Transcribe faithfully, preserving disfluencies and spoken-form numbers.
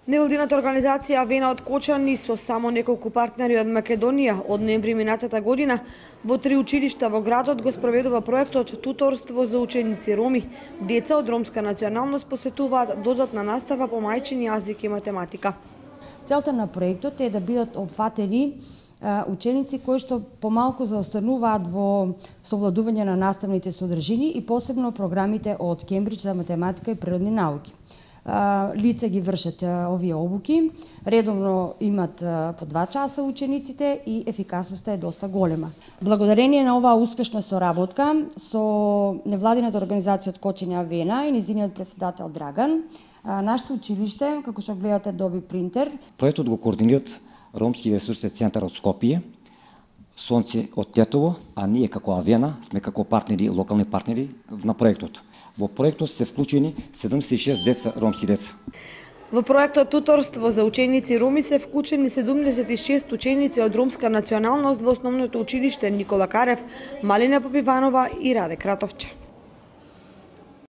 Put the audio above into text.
Невладината организација Авена од Кочани со само неколку партнери од Македонија од ноември минатата година во три училишта во градот го спроведува проектот Туторство за ученици роми. Деца од ромска националност посетуваат додатна настава по мајчин јазик и математика. Целта на проектот е да бидат опфатени ученици кои што помалку заостануваат во совладување на наставните содржини и посебно програмите од Кембридж за математика и природни науки. Лица ги вршат овие обуки, редовно имат по два часа учениците и ефикасноста е доста голема. Благодарение на оваа успешна соработка со невладината организација од Кочани Авена и низиниот председател Драган, нашето училиште, како што гледате, доби принтер. Проектот го координираат Ромски ресурсен центар од Скопје, Сонце од Тетово, а ние како Авена сме како партнери, локални партнери на проектот. Во проектот се вклучени седумдесет и шест деца, ромски деца. Во проектот Туторство за ученици роми се вклучени седумдесет и шест ученици од ромска националност во основното училиште Никола Карев, Малина Попиванова и Раде Кратовче.